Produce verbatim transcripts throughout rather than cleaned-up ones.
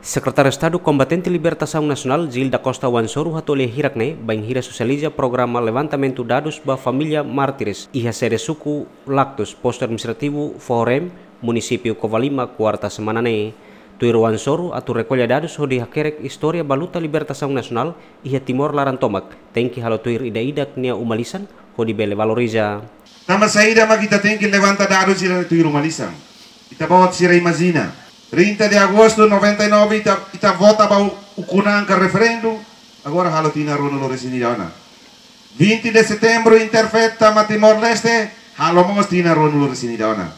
Sekretáriu Estadu Kombatente Libertasaun Nasionál, Gil da Costa Wansoru, hato'o lia hirak ne'e bainhira sosializa programa levantamentu dadus ba família mártires iha sede suku Lactos, Postu Administrativu Fohorem, Munisípiu Covalima, kuarta semana ne'e. Tuir Wansoru, atu rekolla dadus hodi hakerek istória ba luta libertasaun nasionál iha Timor laran tomak, tenke halo tuir ida-idak nia uma-lisan hodi bele valoriza. Tanba saida mak ita tenke levanta dadus sira tuir uma-lisan? Ita-boot sira imajina, trinta de agosto noventa e nove ita, ita vota ba u-, ukun-an ka referendu, agora halo tinan ruanulu-resin-ida ona. Vinte de setembro, Interfet tama Timor-Leste, halo mós tinan ruanulu-resin-ida ona.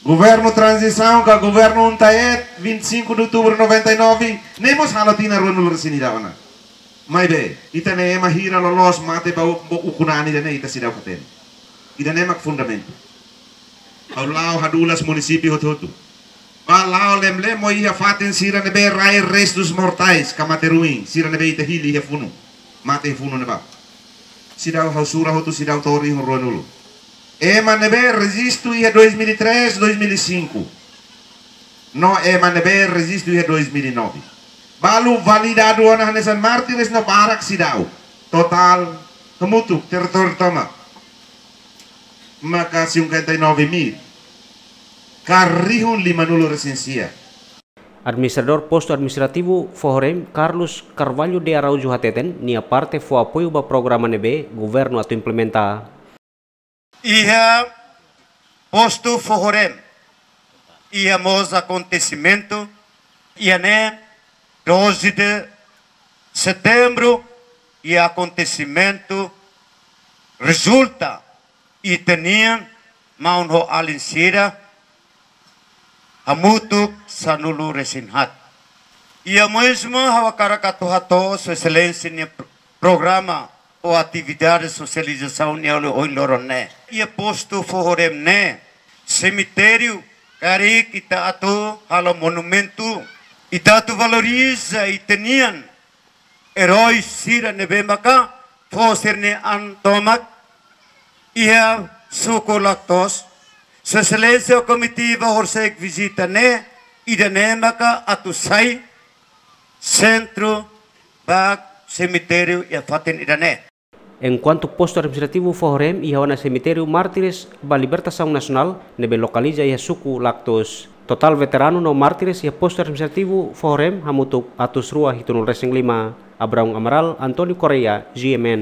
Governu tranzisaun ka governu UNTAET, vinte e cinco de outubro noventa e nove, ne'e mós halo tinan ruanulu-resin-ida ona. Maibé, ita-nia ema hira loloos mate ba u-, ba ukun-an ida-ne'e ita seidauk hatene. Ida-ne'e mak fundamentu. Ha'u la'o hadulas munisípiu hotu-hotu. Bá la'o lemlemo iha fatin sira ne'ebé rai restus mortais, ka mate ruin, sira ne'ebé ita hili iha funu. Mate iha funu ne'ebá. Seidauk ha'u sura hotu, seidauk to'o rihun ruanulu. Ema ne'ebé rejistu iha dois mil e três, dois mil e cinco. No ema ne'ebé rejistu iha dois mil e nove. Balu validadu ona hanesan mártires no barak seidauk. Totál hamutuk territóriu tomak maka cinquenta e nove mil. Ka rihun limanulu-resin-sia. Administradór Postu Administrativu Fohorem, Carlos Carvalho de Araújo hateten, nia parte fó apoiu ba programa ne'ebé governu atu implementa. Iha postu Fohorem, iha mós akontesimentu, iha ne'e doze de setembro, iha akontesimentu rezulta ita-nia maun ho alin sira hamutuk sanulu-resin-haat. Iha mós mak ha'u hakarak atu hato'o Sua Exelénsia nia pro-, programa ou atividade sosializasaun nia ohin loron ne'e. Iha postu Fohorem ne'e, semitériu karik ita atu halo monumentu, ita atu valoriza ita-nia erói sira ne'ebé maka fó sira-nia an tomak iha suku Lactos. Sua Exelénsia ho komitiva horisehik vizita ne'e, ida-ne'e maka atu sai sentru ba semitériu iha fatin ida-ne'e. Enkuantu Postu Administrativu Fohorem iha ona Semitériu Mártires ba Libertasaun Nasionál ne'ebé lokaliza iha suku Lactos. Totál veteranu no mártires iha Postu Administrativu Fohorem hamutuk atus rua hitunulu-resin-lima. Abraão Amaral, António Correia, G M N.